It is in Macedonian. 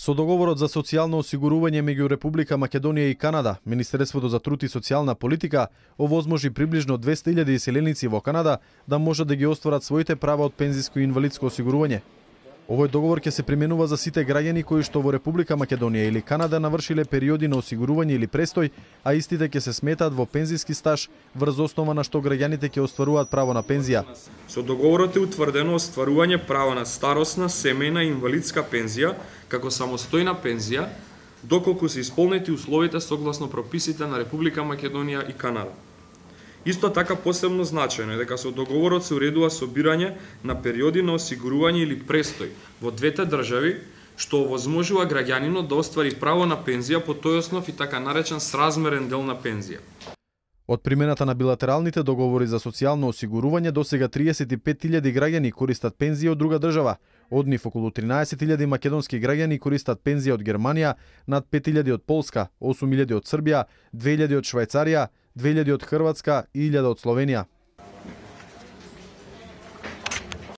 Со договорот за социјално осигурување меѓу Република Македонија и Канада, Министерството за труд и социјална политика овозможи приближно 200.000 иселеници во Канада да можат да ги остварат своите права од пензиско и инвалидско осигурување. Овој договор ќе се применува за сите граѓани кои што во Република Македонија или Канада навршиле периоди на осигурување или престој, а истите ќе се сметаат во пензиски стаж врз основа на што граѓаните ќе остваруваат право на пензија. Со договорот е утврдено остварување право на старосна, семејна и инвалидска пензија како самостојна пензија, доколку се исполнети условите согласно прописите на Република Македонија и Канада. Исто така посебно значајно е дека со договорот се уредува собирање на периоди на осигурување или престој во двете држави, што овозможува граѓанинот да оствари право на пензија по тој основ и така наречен сразмерен дел на пензија. Од примената на билатералните договори за социјално осигурување досега 35.000 граѓани користат пензија од друга држава. Од нив околу 13.000 македонски граѓани користат пензија од Германија, над 5.000 од Полска, 8.000 од Србија, 2.000 од Швајцарија, 2.000 од Хрватска и 1.000 од Словенија.